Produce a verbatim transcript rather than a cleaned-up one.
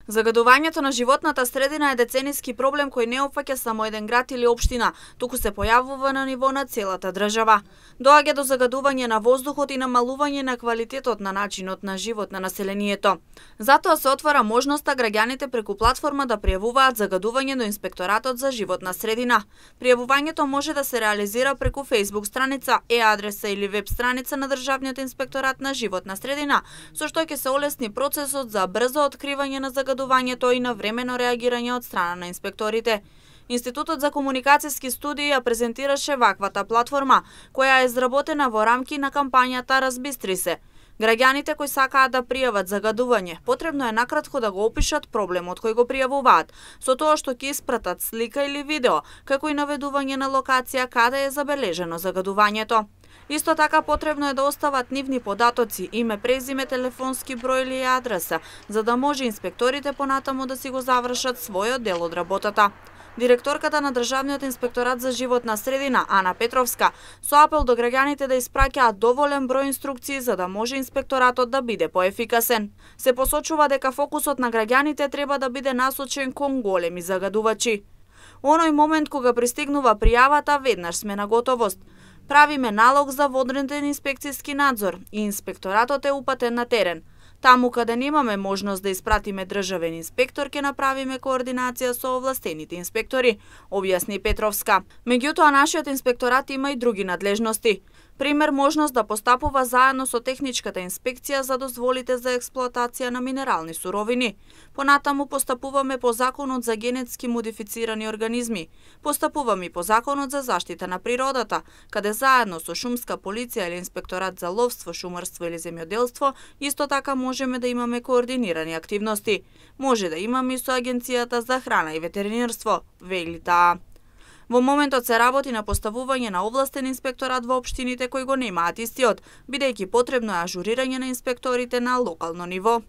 Загадувањето на животната средина е децениски проблем кој не опфаќа само еден град или општина, туку се појавува на ниво на целата држава. Доаѓа до загадување на воздухот и намалување на квалитетот на начинот на живот на населението. Затоа се отвара можноста граѓаните преку платформа да пријавуваат загадување до Инспекторатот за животна средина. Пријавувањето може да се реализира преку Facebook страница, е-адреса или веб страница на Државниот инспекторат на животна средина, со што ќе се олесни процесот за брзо откривање на загадувањето и на времено реагирање од страна на инспекторите. Институтот за комуникацијски студии ја презентираше ваквата платформа, која е изработена во рамки на кампањата Разбистри се. Граѓаните кои сакаат да пријават загадување, потребно е накратко да го опишат проблемот кој го пријавуваат, со тоа што ќе испратат слика или видео, како и наведување на локација каде е забележено загадувањето. Исто така потребно е да остават нивни податоци, име, презиме, телефонски број или адреса, за да може инспекторите понатаму да си го завршат својот дел од работата. Директорката на Државниот инспекторат за животна средина, Ана Петровска, со апел до граѓаните да испраќаат доволен број инструкции за да може инспекторатот да биде поефикасен. Се посочува дека фокусот на граѓаните треба да биде насочен кон големи загадувачи. Оној момент кога пристигнува пријавата, веднаш сме на готовост. Правиме налог за водреден инспекцијски надзор и инспекторатот е упатен на терен. Таму каде немаме можност да испратиме државен инспектор, ќе направиме координација со овластените инспектори, објасни Петровска. Меѓутоа, нашиот инспекторат има и други надлежности. Пример, можност да постапува заедно со техничката инспекција за дозволите за експлоатација на минерални суровини. Понатаму постапуваме по Законот за генетски модифицирани организми. Постапуваме и по Законот за заштита на природата, каде заедно со шумска полиција или инспекторат за ловство, шумарство или земјоделство, исто така можеме да имаме координирани активности. Може да имаме и со Агенцијата за храна и ветеринарство, вели таа. Во моментот се работи на поставување на овластен инспекторат во општините кои го немаат истиот, бидејќи потребно е ажурирање на инспекторите на локално ниво.